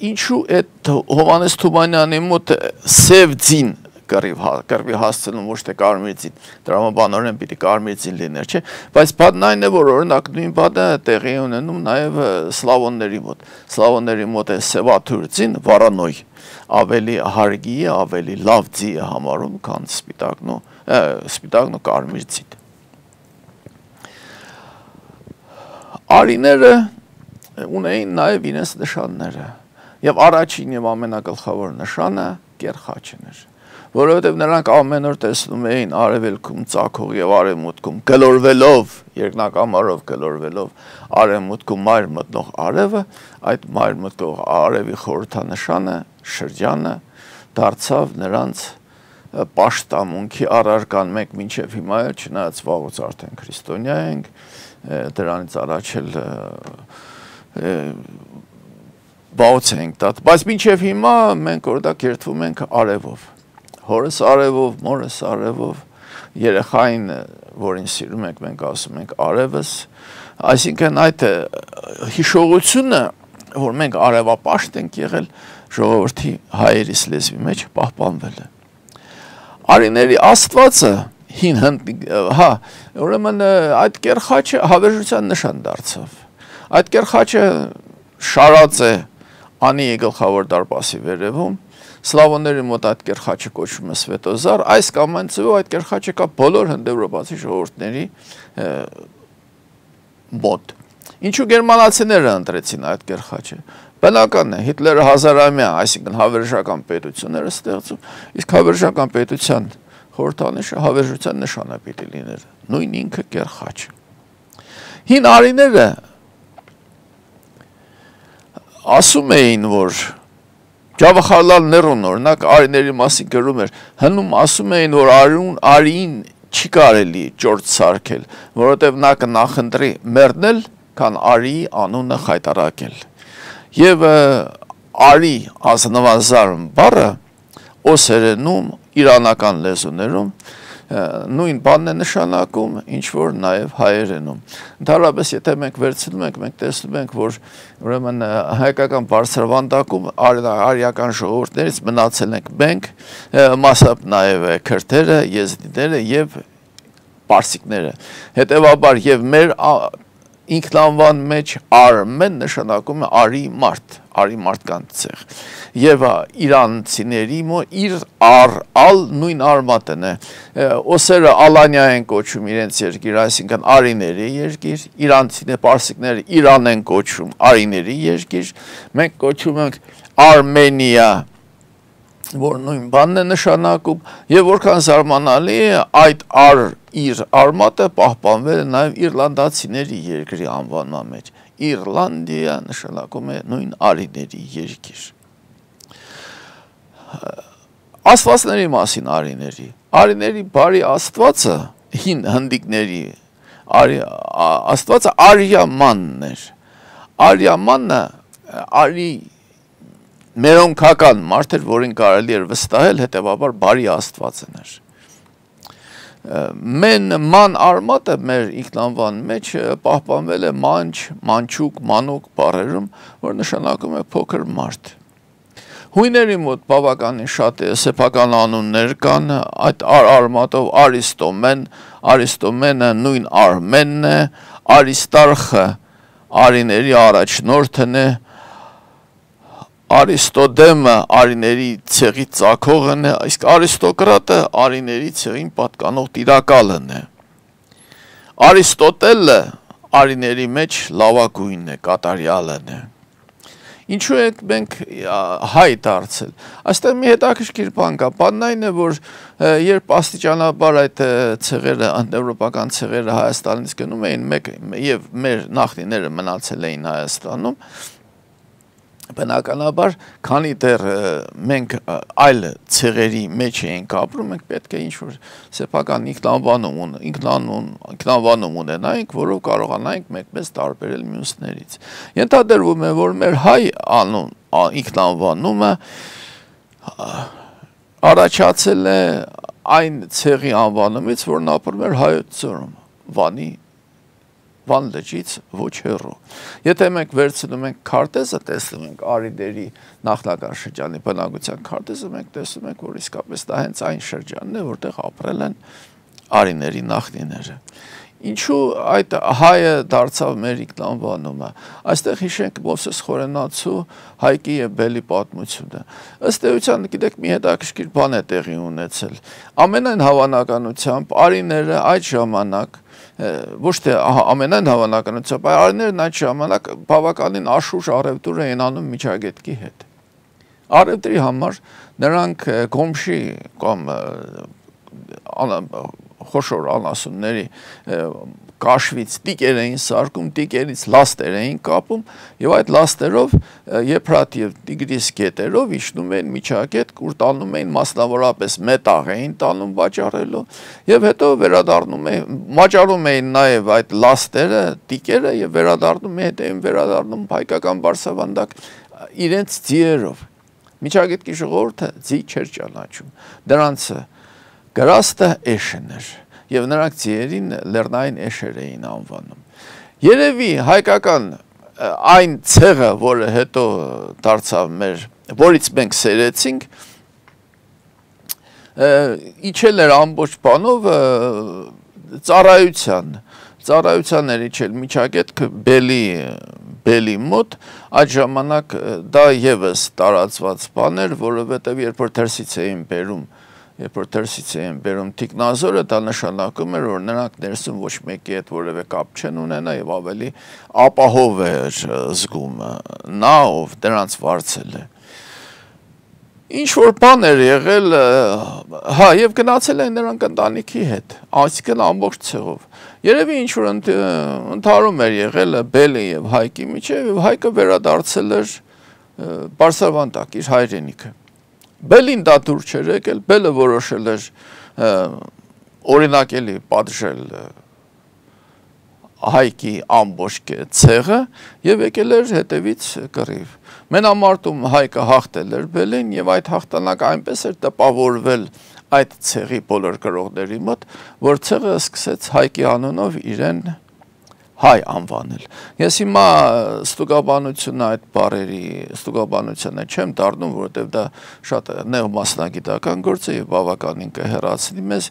Ինչու այդ Հովհաննես Թումանյանի մոտ սև ձին կռվի հասցնում, ոչ թե կարմիր ձին, տրամաբանորեն պիտի կարմիր ձին լիներ, չէ, բայց բանն այն է, որ օրինակ նույն բանը տեղի ունենում նաև սլավոնների մոտ։ Սլավոնների մոտ է սևաթուր ձին, վարանոյ, ավելի հարգի է, ավելի լավ ձի է համարում, քան սպիտակն ու կարմիր ձին։ Արիները ունեին նաև իրենց նշանները, եւ առաջին եւ ամենագլխավոր նշանը կեռ խաչն էր, որովհետև նրանք ամեն օր տեսնում էին արևելքում ծագող եւ արևմուտքում գլորվելով, երկնակամարով գլորվելով արևմուտքում մայր մտնող արևը, այդ մայր մտնող արևի խորհրդանշանը, շրջանը դարձավ նրանց պաշտամունքի առարկան մենք մինչև հիմա էլ չնայած վաղուց արդեն քրիստոնյա ենք, դրանից առաջ էլ բաուց ենք տատ, բայց մինչև հիմա մենք օրդակ երթվում ենք արևով, հորս արևով, մորս արևով, երեխային, որին սիրում ենք, մենք ասում ենք արևս, այսինքն այդ հիշողությունը, որ մենք արևապաշտ ենք եղել, ժողովրդի հայերիս լեզվի մեջ պահպանվել է։ Արիների Աստվածը հին ուրեմն այդ կերխաչը հավերժության նշան դարձավ։ Այդ կերխաչը շարած է անի գլխավոր դարպասի վերևում, սլավոնների մոտ այդ կերխաչը կոչվում է Սվետոզար, այս կամ այն ձևով այդ կերխաչը կա բոլոր հնդեվրոպացի ժողովուրդների մոտ։ Ինչու գերմանացիները ընտրեցին այդ կերխաչը։ Բնական է, Հիտլերը հազարամյա, այսինքն հավերժական պետությունները ստեղծում, իսկ հավերժական պետության խորհրդանիշը հավերժության նշանը պիտի լիներ, նույն ինքը կերխաչը։ Հին արիները ասում էին, որ Ջավախարլալ Ներուն օրինակ արիների մասին գրում էր, հնում ասում էին, որ արիին չի կարելի ճորձ սարքել, որովհետև նա կնախընտրի մեռնել, քան արիի անունը խայտարակել։ Եվ արի ազնվազարմ բառը օսերենում, իրանական լեզուներում նույն բանն է նշանակում, ինչ որ նաև հայերենում։ Ընդհանրապես, եթե մենք վերցնում ենք, մենք տեսնում ենք, որ ուրեմն հայկական բարձրավանդակում արիական ժողովուրդներից մնացել ենք մենք, մասամբ նաև քրդերը, եզդիները եւ պարսիկները։ Հետևաբար եւ մեր ինքնանվան մեջ արմեն նշանակում է արի մարդկանց ցեղ եւ իրանցիների իր ալ նույն արմատն է օսերը ալանյա են կոչում իրենց երկիր, այսինքն արիների երկիր, իրանցիները պարսիկները Իրան են կոչում արիների երկիր, մենք կոչում ենք Արմենիա, որ նույն բանն է նշանակում եւ որքան զարմանալի է այդ իր արմատը պահպանվել է նաև իռլանդացիների երկրի անվանման մեջ։ Իռլանդիա նշանակում է նույն արիների երկիր։ Աստվածների մասին արիների բարի աստվածը հին հնդիկների աստվածը Արիամանն էր։ Արիամանը արի մերոնքական մարդ էր, որին կարելի էր վստահել, հետևաբար բարի աստվածն էր։ Ման արմատը մեր ինքնանվան մեջ պահպանվել է մանչ, մանչուկ, մանուկ բառերում, որ նշանակում է փոքր մարդ։ Հույների մոտ բավականին շատ սեփական անուններ կան, այդ արմատով Արիստոմենը նույն Արմենն է, Արիստարխը արիների առաջնորդն է, Արիստոդեմը արիների ցեղի ծագողն է, իսկ Արիստոկրատը արիների ցեղին պատկանող տիրակալն է։ Արիստոտելը արիների մեջ լավագույնն է, կատարյալն է։ Ինչու ենք մենք հայ դարձել։ Այստեղ մի հետաքրքիր բան կա, բանն այն է, որ երբ աստիճանաբար այդ ցեղերը, անեվրոպական ցեղերը Հայաստանից գնում էին, եւ մեր նախնիները մնացել էին Հայաստանում, բնականաբար, քանի դեռ մենք այլ ցեղերի մեջ ենք ապրում, մենք պետք է ինչ-որ սեփական ինքնանվանում ունենայինք, որով կարողանայինք մեզ տարբերել մյուսներից։ Ենթադրվում է, որ մեր հայ ինքնանվանումը առաջացել է այն ցեղի անվանումից, որն ապրում էր Հայոց ձորում, Վան լճից ոչ հեռու։ Եթե մենք վերցնում ենք քարտեզը, տեսնում ենք արիների նախնական շրջանի բնակության քարտեզը, մենք տեսնում ենք, որ իսկապես դա հենց այն շրջանն է, որտեղ ապրել են արիների նախնիները։ Ինչու այդ հայը դարձավ մեր ինքնանվանումը։ Այստեղ հիշենք Մովսես Խորենացու Հայկի եւ Բելի պատմությունը։ Ըստ էության, գիտեք, մի հետաքրքիր բան է տեղի ունեցել։ Ամենայն հավանականությամբ արիները այդ ժամանակ ոչ թե ամենայն հավանականությամբ, այլ արիներն այդ ժամանակ բավականին աշխուժ առևտուր էին անում Միջագետքի հետ։ Արևտրի համար նրանք կոմշի կամ խոշոր անասունների կաշվից տիկեր էին սարկում, տիկերից լաստեր էին կապում եւ այդ լաստերով եփրատ եւ տիգրիս գետերով իջնում էին միջակետ, ուր տանում էին մասնավորապես մետաղ էին տանում վաճառելու եւ հետո վերադառնում էին, վաճառում էին նաեւ այդ լաստերը, տիկերը եւ վերադառնում էին վերադառնում հայկական բարձրավանդակ իրենց ձիերով։ Միջագետքի ժողովուրդը ձի չէր ճանաչում։ Դրանց գրաստը էշն էր եւ նրանք ձիերին լեռնային էշեր էին անվանում։ Երևի հայկական այն ցեղը, որը հետո դարձավ մեր, որից մենք սերեցինք, իջել էր ամբողջ բանով ծառայության էր իջել միջագետքը բելի մոտ, այդ ժամանակ դա եւս տարածված բան էր, որովհետեւ երբ որ դրսից էին բերում թիկնազորը, դա նշանակում էր, որ նրանք ներսում ոչ մեկի հետ որևէ կապ չեն ունենա եւ ավելի ապահով էր զգում նա, ով դրանց վարձել է։ Ինչ որ բան էր եղել, հա, եւ գնացել են նրանք ընտանիքի հետ, այսինքն ամբողջ ցեղով։ Երևի ինչ որ ընդհարում էր եղել Բելի եւ Հայկի միջեւ եւ Հայկը վերադարձել էր Բարսավանդակ իր հայրենիքը։ Բելին դա դուր չէր եկել, Բելը որոշել էր օրինակելի պատժել Հայկի ամբողջ ցեղը եւ եկել էր հետևից կռիվ։ Մենամարտում Հայկը հաղթել էր Բելին եւ այդ հաղթանակը այնպես էր տպավորվել այդ ցեղի բոլոր գրողների մոտ, որ ցեղը սկսեց Հայկի անունով իրեն հայ անվանել։ Ես հիմա ստուգաբանությունը այդ բառերի ստուգաբանությունը չեմ դառնում, որովհետև դա շատ նեղ մասնագիտական գործ է եւ բավականին կհեռացնի մեզ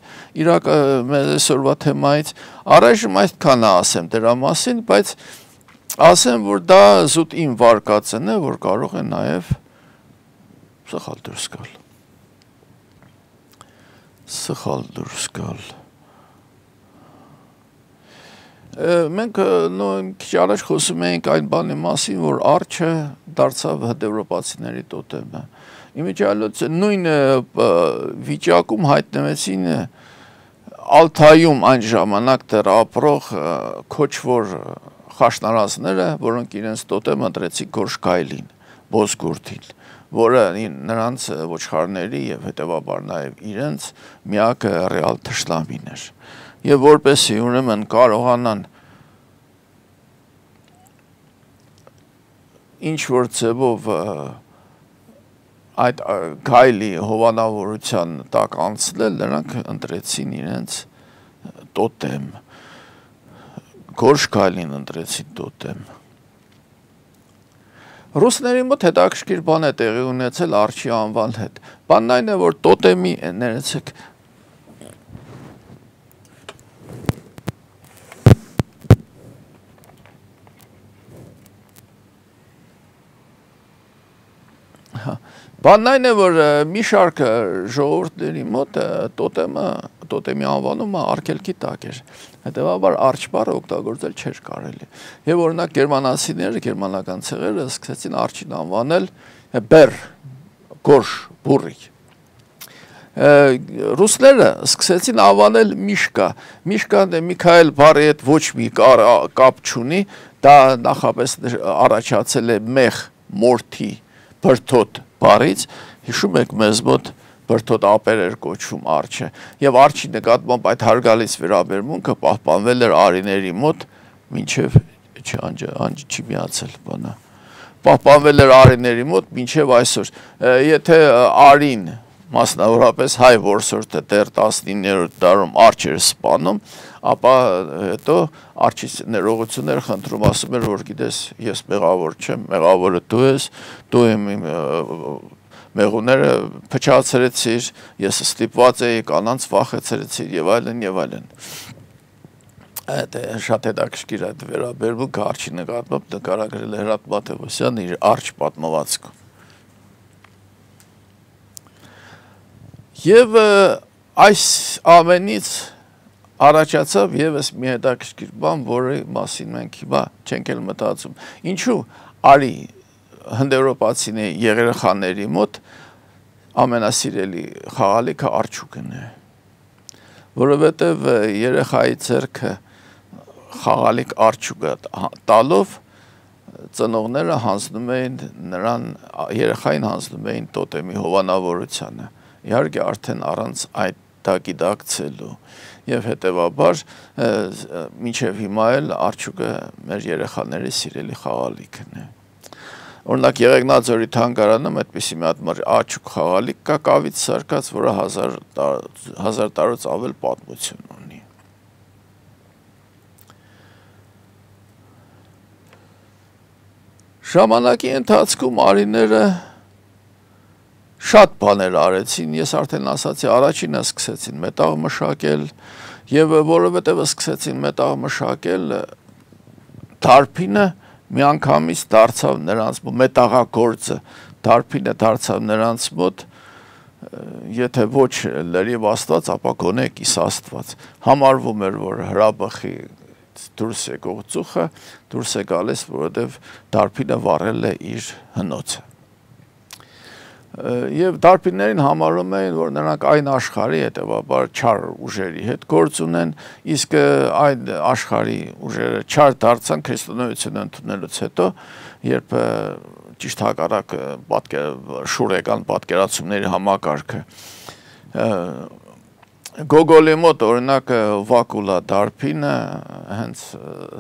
մեզ այսօրվա թեմայից։ Առայժմ այդքանը ասեմ դրա մասին, բայց ասեմ, որ դա զուտ իմ վարկածն է, որ կարող է նաեւ սխալ դուրս գալ։ Մենք քիչ առաջ խոսում էինք այն բանի մասին, որ արջը դարձավ հնդեվրոպացիների տոտեմը։ Իմիջիալոց նույն վիճակում հայտնվեցին Ալթայում այն ժամանակ դեռ ապրող քոչվոր խաշնարածները, որոնք իրենց տոտեմ ընտրեցին Գորշկայլին, Բոսգուրդին, որը նրանց ոչխարների եւ հետեւաբար նաեւ իրենց միակ ռեալ թշնամին էր։ Եվ որպեսի ուրեմն կարողանան ինչ որ ձևով այդ գայլի հովանավորության տակ անցնել, նրանք ընտրեցին իրենց տոտեմ, Գորշկայլին ընտրեցին տոտեմ։ Ռուսների մոտ հետաքրքիր բան է տեղի ունեցել արջի անվան հետ։ Բանն այն է, որ տոտեմի ներեցեք Բանն այն է, որ մի շարք ժողովուրդների մոտ տոտեմի անվանումը արգելքի տակ էր, հետևաբար արջ բառը օգտագործել չէր կարելի։ Եվ օրինակ գերմանացիները, գերմանական ցեղերը սկսեցին արջին անվանել բեր, գորշ, բուրի։ Ռուսները սկսեցին անվանել միշկա։ Միշկան Միքայել բառի հետ ոչ մի կապ չունի, դա նախապես առաջացել է մեղ, մորթի, բրդոտ բառից, հիշում եք մեզ մոտ բրդոտ ապեր էր կոչվում արջը, եւ արջի նկատմամբ այդ հարգալից վերաբերմունքը պահպանվել էր արիների մոտ, մինչև անջը չի միացել բանը, պահպանվել էր արիների մոտ մինչև այսօր, եթե արին, մասնավորապես հայ որսորդը դեռ 19-րդ դարում արջ էր սպանում, ապա հետո արջից ներողություններ խնդրում, ասում էր, որ գիտես, ես մեղավոր չեմ, մեղավորը դու ես, դու իմ մեղուները փչացրեցիր, ես ստիպված էի կանանց վախեցրեցիր եւ այլն եւ այլն։ Այդ շատ հետաքրքիր այդ վերաբերմունքը արջի նկատմամբ նկարագրել է Հրաչ Մաթևոսյանը իր արջ պատմվածքում։ Եվ այս ամենից առաջացավ եւս մի հետաքրքիր բան, որի մասին մենք հիմա չենք էլ մտածում։ Ինչու արի հնդեվրոպացիների երեխաների մոտ ամենասիրելի խաղալիքը արջուկն է, որովհետև երեխայի ձեռքը խաղալիք արջուկը տալով ծնողները հանձնում էին նրան, երեխային հանձնում էին տոտեմի հովանավորությանը, իհարկե արդեն առանց այդ դա գիտակցելու, և հետևաբար մինչև հիմա էլ արջուկը մեր երեխաների սիրելի խաղալիքն է։ Օրինակ Եղեգնաձորի թանգարանում այդպիսի մի հատ արջուկ խաղալիք կա կավից սարքած, որը 1000 տարուց ավել պատմություն ունի։ Ժամանակի ընթացքում արիները շատ բաներ արեցին, ես արդեն ասացի, առաջինը սկսեցին մետաղ մշակել, և որովհետև սկսեցին մետաղ մշակել, դարբինը միանգամից դարձավ նրանց մոտ, մետաղագործը դարբինը դարձավ նրանց մոտ, եթե ոչ լրիվ աստված, ապա գոնե կիսաստված, համարվում էր, որ հրաբխի դուրս եկող ծուխը դուրս է գալիս, որովհետև դարբինը վառել է իր հնոցը։ Եվ դարբիններին համարում էին, որ նրանք այն աշխարհի հետևաբար չար ուժերի հետ գործ ունեն, իսկ այն աշխարհի ուժերը չար դարձան քրիստոնեությունը ընդունելուց հետո, երբ ճիշտ հակառակ շուրեկան պատկերացումների համակարգը Գոգոլի մոտ օրինակ Վակուլա դարբինը հենց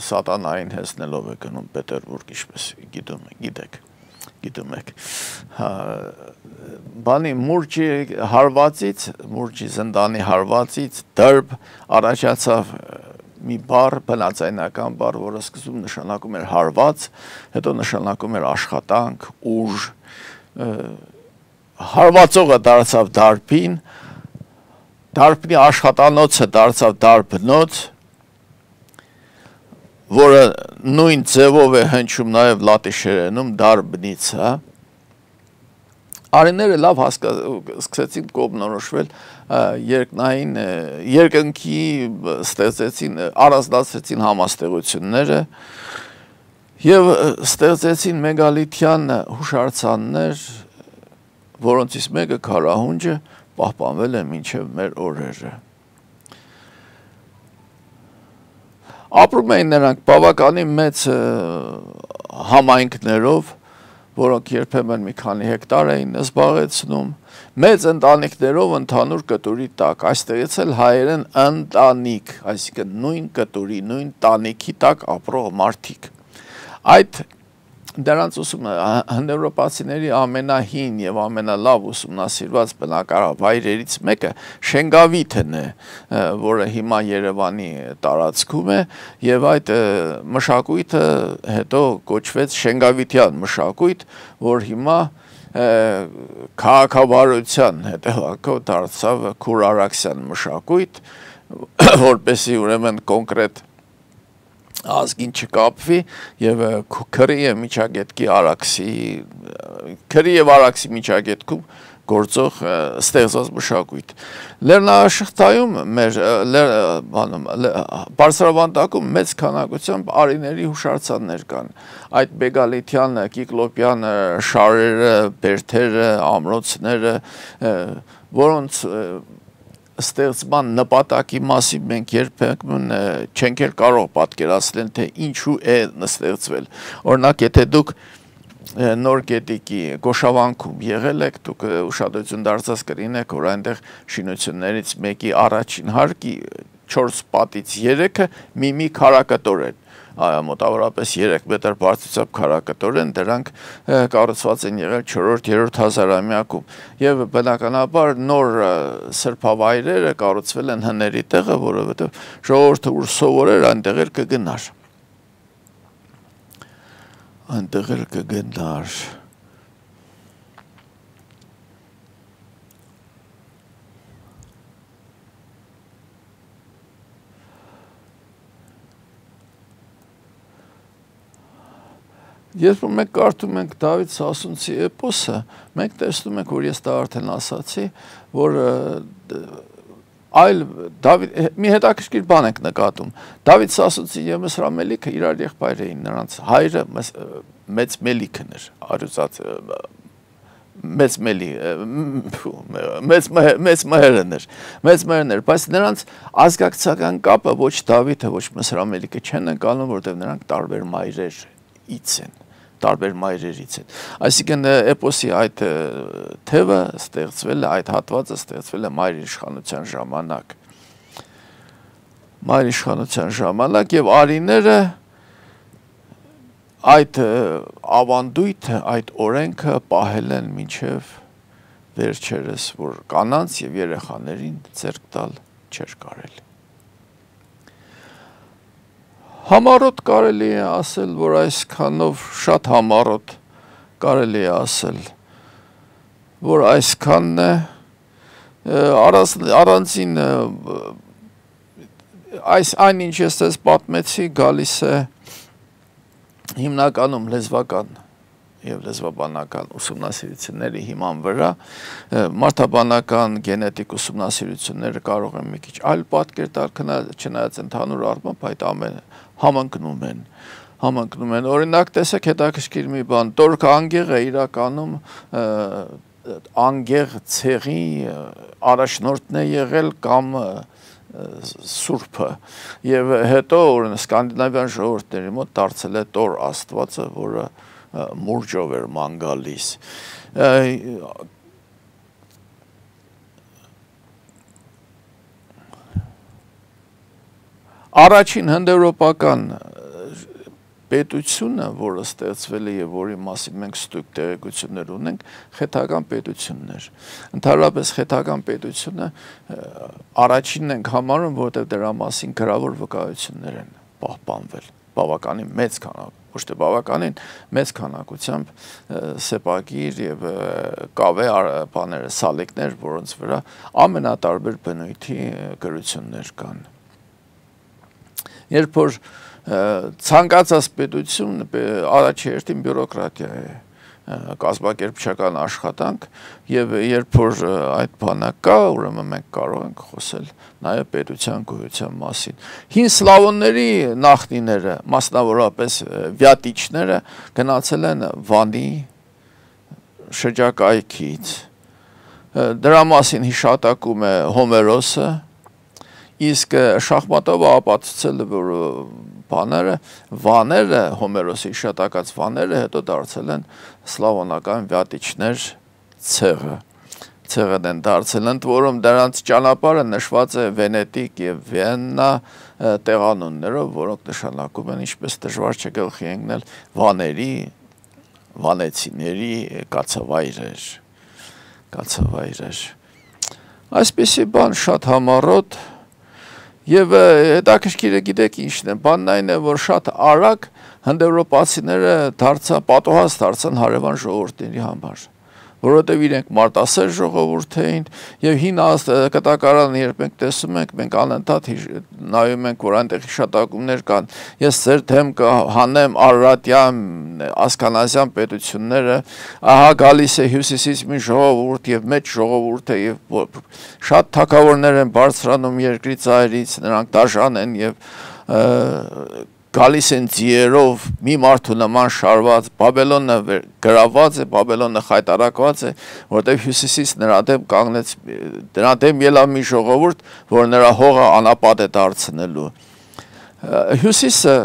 սատանային հեսնելով է գնում Պետերբուրգ, ինչպես գիտում եք, բանի մուրճի հարվածից, մուրճի զնդանի հարվածից դրբ առաջացավ մի բառ, բնածայնական բառ, որը սկզբում նշանակում էր հարված, հետո նշանակում էր աշխատանք, ուժ, հարվածողը դարձավ դարբին, դարբնի աշխատանոցը դարձավ դարբնոց, որը նույն ձևով է հնչում նաև լատիշերենում դարբնիցա, արիները լավ սկսեցին կողմնորոշվել երկնային, երկնքի ստեղծեցին, առանձնացրեցին համաստեղությունները և ստեղծեցին մեգալիթյան հուշարձաններ, որոնցից մեկը քարահունջը պահպանվել է մինչև մեր օրերը։ Ապրում էին նրանք բավականին մեծ համայնքներով, որոնք երբեմն մի քանի հեկտար էին զբաղեցնում, մեծ ընտանիքներով ընդհանուր կտուրի տակ, այստեղից էլ հայերեն ընտանիք, այսինքն նույն կտուրի, նույն տանիքի տակ ապրող մարդիկ։ Այդ դրանց հնդեվրոպացիների ամենահին և ամենալավ ուսումնասիրված բնակավայրերից մեկը Շենգավիթն է, որը հիմա Երևանի տարածքում է, և այդ մշակույթը հետո կոչվեց Շենգավիթյան մշակույթ, որ հիմա քաղաքավարության հետևանքով դարձավ քուրարաքսյան մշակույթ, որպեսզի ուրեմն կոնկրետ ազգին չկապվի և քրի և արաքսի միջագետքում գործող ստեղծված մշակույթ։ Լեռնաշղթայում բարձրավանդակում մեծ քանակությամբ արիների հուշարձաններ կան, այդ մեգալիթյան, կիկլոպյան շարերը, բերդերը, ամրոցները, որոնց ստեղծման նպատակի մասին մենք երբեմն չենք էլ կարող պատկերացնել, թե ինչու է ստեղծվել։ Օրինակ, եթե դուք Նոր Գետիկի Գոշավանքում եղել եք, դուք ուշադրություն դարձած կլինեք, որ այնտեղ շինություններից մեկի առաջին հարկի 4 պատից 3-ը մի քարակտոր են, մոտավորապես 3 մետր բարձրությամբ քարակտոր են, դրանք կառուցված են եղել 4-րդ հազարամյակում և բնականաբար նոր սրբավայրերը կառուցվել են հների տեղը, որովհետև ժողովուրդը ուր սովորեր այնտեղ էլ կգնար։ Երբ մենք կարդում ենք Դավիթ Սասունցի էպոսը, մենք տեսնում ենք, որ ես դա արդեն ասացի, որ այլ Դավիթ մի հետաքրքիր բան ենք նկատում։ Դավիթ Սասունցի եւ Մսրա Մելիքը իրար եղբայր էին, նրանց հայրը մեծ Մելիքն էր, արյուծած մեծ մհերն էր, բայց նրանց ազգակցական կապը ոչ Դավիթը, ոչ Մսրա Մելիքը չեն ընկալում, որտեղ նրանք տարբեր մայրերից են, տարբեր մայրերից են։ Այսինքն էպոսի այդ թևը ստեղծվել է, այդ հատվածը ստեղծվել է մայր իշխանության ժամանակ եւ արիները այդ ավանդույթը, այդ օրենքը պահել են մինչև վերջերս, որ կանանց եւ երեխաներին ձեռք տալ չէր կարելի։ Համառոտ կարելի է ասել, որ այսքանով շատ համառոտ կարելի է ասել, որ այսքանն է առանձին այն ինչ ես ձեզ պատմեցի գալիս է հիմնականում լեզվական եւ լեզվաբանական ուսումնասիրությունների հիման վրա, մարդաբանական գենետիկ ուսումնասիրությունները կարող են մի քիչ այլ պատկեր տալ, չնայած ընդհանուր առմամբ այդ ամենը համընկնում են, օրինակ տեսեք հետաքրքիր մի բան, Տորք անգեղը իրականում անգեղ ցեղի առաջնորդն է եղել կամ Սուրբը եւ հետո սկանդինավյան ժողովուրդների մոտ դարձել է Տոր Աստվածը, որը մուրջով էր ման գալիս։ Առաջին հնդեվրոպական պետությունը, որը ստեղծվել է եւ որի մասին մենք ստույգ տեղեկություններ ունենք, խեթական պետությունն էր։ Ընդհանրապես խեթական պետությունը առաջինն ենք համարում, որտեղ դրա մասին գրավոր վկայություններ են պահպանվել, բավականին մեծ քանակությամբ, ոչ թե բավականին մեծ քանակությամբ սեպագիր եւ կավե բաները, սալիկներ, որոնց վրա ամենատարբեր բնույթի գրություններ կան։ Երբ որ ցանկացած պետություն առաջերտին բյուրոկրատիա է, կազմակերպչական աշխատանք եւ երբ որ այդ բանը կա, ուրեմն մենք կարող ենք խոսել նաեւ պետության գոյության մասին։ Հին սլավոնների նախնիները, մասնավորապես վյատիչները գնացել են Վանի շրջակայքից։ Դրա մասին հիշատակում է Հոմերոսը, իսկ շախմատով ապացուցել է, որ վաները, Հոմերոսի հիշատակած վաները հետո դարձել են սլավոնական վյատիչներ ցեղն են դարձել, ընդ որում դրանց ճանապարհը նշված է Վենետիկ եւ Վիեննա տեղանուններով, որոնք նշանակում են ինչպես դժվար չէ գլխի ընկնել վանեցիների կացավայրեր։ Այսպիսի բան շատ համառոտ եւ հետաքրքիրը գիտեք ինչն է, բանն այն է, որ շատ արագ հնդեվրոպացիները պատոհաս դարձան հարևան ժողովուրդների համար, որովհետև իրենք մարտասեր ժողովուրդ էին եւ հին կտակարանը երբ մենք տեսում ենք, մենք անընդհատ նայում ենք, որ այնտեղ հիշատակումներ կան։ Ես ձեր դեմ կհանեմ Արարատյան, Ասկանազյան պետությունները, ահա գալիս է հյուսիսից մի ժողովուրդ եւ մեծ ժողովուրդ է եւ շատ թագավորներ են բարձրանում երկրի ծայրից, նրանք դաժան են եւ գալիս են ձիերով մի մարդու նման շարված, Բաբելոնը գրաված է, Բաբելոնը խայտարակված է, որտեղ հյուսիսից նրա դեմ կանգնեց, դրա դեմ ելավ մի ժողովուրդ, որ նրա հողը անապատ է դարձնելու։ Հյուսիսը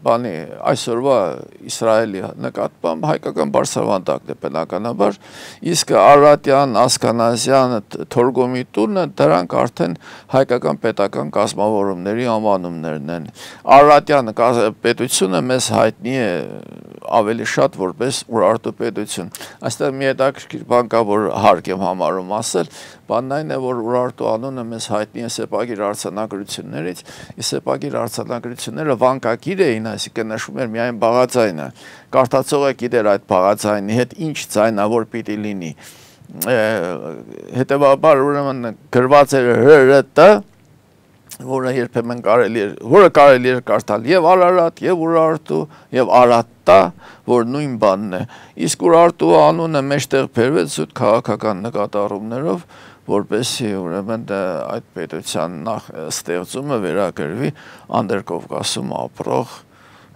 այսօրվա Իսրայելի նկատմամբ հայկական բարձրավանդակն է բնականաբար, իսկ Արարատյան, Ասկանազյան, Թորգոմի տունը դրանք արդեն հայկական պետական կազմավորումների անվանումներն են։ Արարատյան պետությունը մեզ հայտնի է ավելի շատ որպես Ուրարտու պետություն։ Այստեղ մի հետաքրքիր բան կա, որ հարկ եմ համարում ասել, բանն այն է, որ Ուրարտու անունը մեզ հայտնի է սեպագիր արձանագրություններից, իսկ սեպագիր արձանագրությունները վանկագիր էին, այսինքն նշում էր միայն բաղաձայնը։ Կարդացողը գիտեր այդ բաղաձայնի հետ ինչ ձայնավոր պիտի լինի։ Հետևաբար ուրեմն գրված էր ՀՌՏ, որը երբեմն կարելի էր կարդալ եւ Արարատ, եւ Ուրարտու, եւ Արատտա, որ նույն բանն է։ Իսկ Ուրարտու անունը մեջտեղ բերվեց զուտ քաղաքական նկատառումներով, որպեսզի ուրեմն այդ պետության ստեղծումը վերագրվի Անդրկովկասում ապրող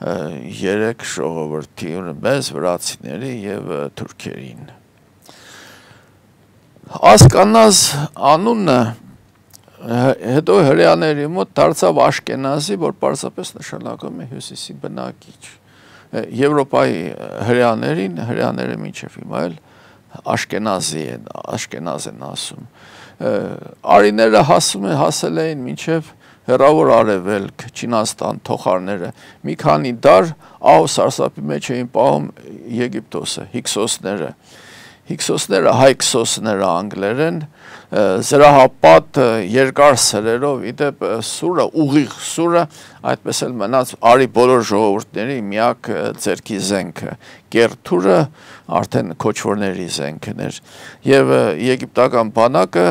3 ժողովրդի մեզ վրացիների եւ թուրքերին։ Ասկանազ անունը հետո հրեաների մոտ դարձավ Աշկենազի, որ պարզապես նշանակում է հյուսիսի բնակիչ։ Եվրոպայի հրեաները մինչև հիմա էլ Աշկենազ են ասում։ Արիները հասել էին մինչև հեռավոր արևելք, Չինաստան, թոխարները, մի քանի դար ահ սարսափի մեջ էին պահում Եգիպտոսը, Հիքսոսները, հայքսոսները անգլերեն, զրահապատ երկար սրերով, իդեպ սուրը, ուղիղ սուրը, այդպես էլ մնաց արի բոլոր ժողովուրդների միակ ձեռքի զենքը, կերթուրը արդեն քոչվորների զենքն էր, և եգիպտական բանակը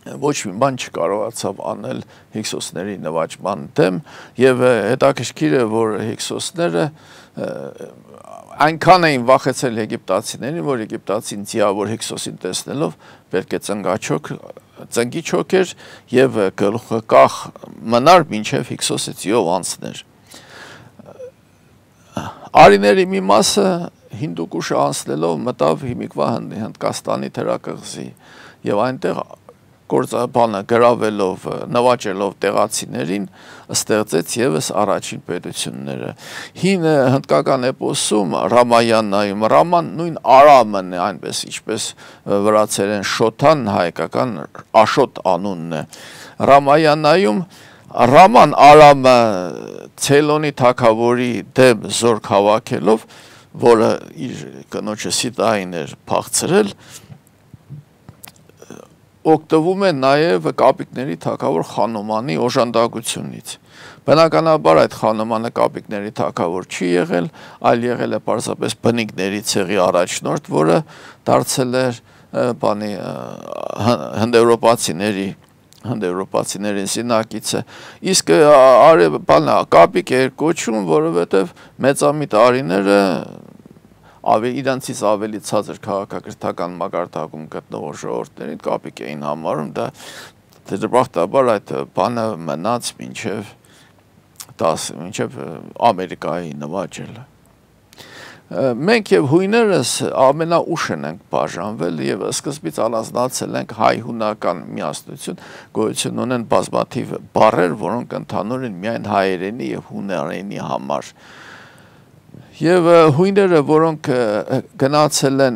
ոչ մի բան չկարողացավ անել հիքսոսների նվաճման դեմ, և հետաքրքիր է, որ հիքսոսները այնքան էին վախեցել եգիպտացիներին, որ եգիպտացին ձիավոր Հիքսոսին տեսնելով պետք է ծնգի չոքեր և գլուխը կախ մնար մինչև Հիքսոսը ձիով անցներ։ Արիների մի մասը Հինդուկուշը անցնելով մտավ հիմիկվա Հնդկաստանի թերակղզի և այնտեղ գործաբանը գրավելով, նվաճելով տեղացիներին ստեղծեց ևս առաջին պետությունները։ Հին հնդկական էպոսում Ռամայանայում, Ռաման նույն Արամն է, այնպես ինչպես վրացերեն Շոթան հայկական Աշոտ անունն է։ Ռամայանայում Ռաման Արամը Ցեյլոնի թագավորի դեմ զորք հավաքելով, որը իր կնոջը Սիտային էր փախցրել, օգտվում է նաև կապիկների թագավոր Խանոմանի օժանդակությունից։ Բնականաբար այդ Խանոմանը կապիկների թագավոր չի եղել, այլ եղել է պարզապես բնիկների ցեղի առաջնորդ, որը դարձել էր հնդեվրոպացիների զինակիցը։ Իսկ կապիկ էր կոչում, որովհետև մեծամիտ արիները իրանցից ավելի ցածր քաղաքակրթական մակարդակում գտնվող ժողովուրդներին կապիկ էին համարում, դա դժբախտաբար այդ բանը մնաց մինչև Ամերիկայի նվաճելը։ Մենք և հույներս ամենաուշ ենք բաժանվել և սկզբից առանձնացել ենք հայ-հունական միասնություն, գոյություն ունեն բազմաթիվ բառեր, որոնք ընդհանուր են միայն հայերենի և հուներենի համար։ Եվ հույները, որոնք գնացել են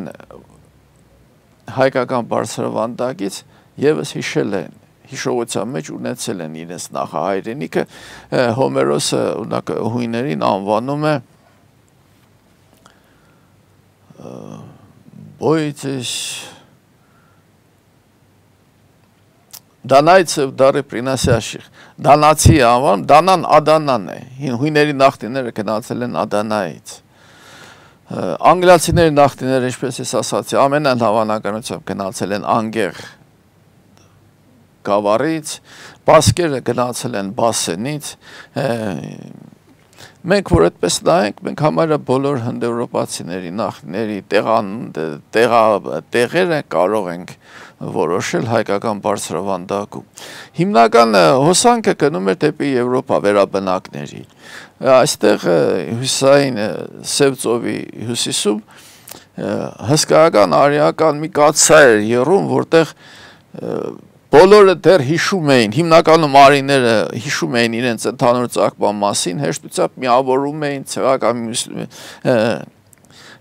հայկական բարձրավանդակից, ևս հիշել են, հիշողության մեջ ունեցել են իրենց նախահայրենիքը, Հոմերոսը հույներին անվանում է Բոյցես Դանայցև դարի պրինասյաշիխ, դանացի անվանում, դանան ադանան է, հույների նախտիները գնացել են ադանայից։ Անգլիացիների նախտիները, ինչպես ես ասացի, ամենայն հավանականությամբ գնացել են անգեղ գավառից, բասկերը գնացել են բասենից, մենք որ այդպես նայենք, մենք համարյա բոլոր հնդեվրոպացիների նախնիների տեղերը կարող ենք որոշել հայկական բարձրավանդակում։ Հիմնական հոսանքը գնում էր դեպի Եվրոպա վերաբնակների։ Այստեղ հյուսային Սև ծովի հյուսիսում հսկայական արիական մի կաթսա էր եռում, որտեղ բոլորը դեռ հիշում էին, հիմնականում արիները հիշում էին իրենց ընդհանուր ծագման մասին, հեշտությամբ միավորում էին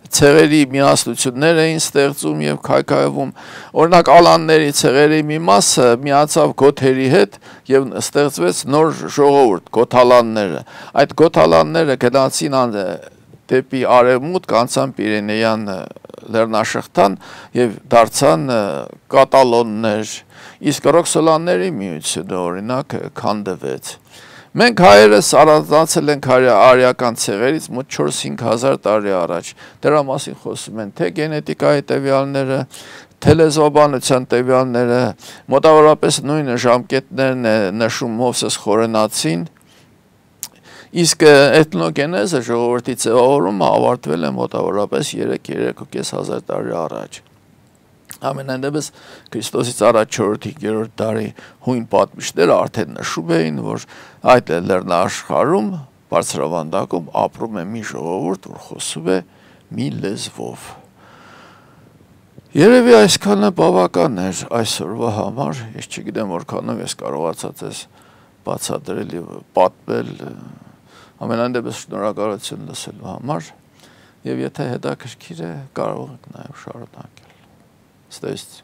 ցեղերի միասնություններ էին ստեղծում և քայքայվում, օրինակ ալանների ցեղերի մի մասը միացավ գոթերի հետ և ստեղծվեց նոր ժողովուրդ, գոթալանները։ Այդ գոթալանները գնացին դեպի արևմուտք, անցան Պիրենեյան լեռնաշղթան և դարձան կատալոններ, իսկ ռոքսոլանների միությունը օրինակ քանդվեց։ Մենք հայերս առանձնացել ենք արիական ցեղերից մոտ 4-5 հազար տարի առաջ, դրա մասին խոսում են թե գենետիկայի տվյալները, թե լեզվաբանության տվյալները, մոտավորապես նույն ժամկետներն է նշում Մովսես Խորենացին, իսկ էթնոգենեզը ժողովրդի ձևավորումը ավարտվել է մոտավորապես 3-3.5 հազար տարի առաջ։ Ամենայնդեպս Քրիստոսից առաջ 4-5-րդ դարի հույն պատմիչները արդեն նշում էին, որ այդ լեռնաաշխարհում բարձրավանդակում ապրում է մի ժողովուրդ, որ խոսում է մի լեզվով։ Երևի այսքանը բավական էր այսօրվա համար, ես չգիտեմ որքանով ես կարողացա ձեզ բացատրել եւ պատմել, ամենայնդեպս շնորհակալություն լսելու համար, եւ եթե հետաքրքիր է կարող եք նաեւ շարունակել։ Ստեստ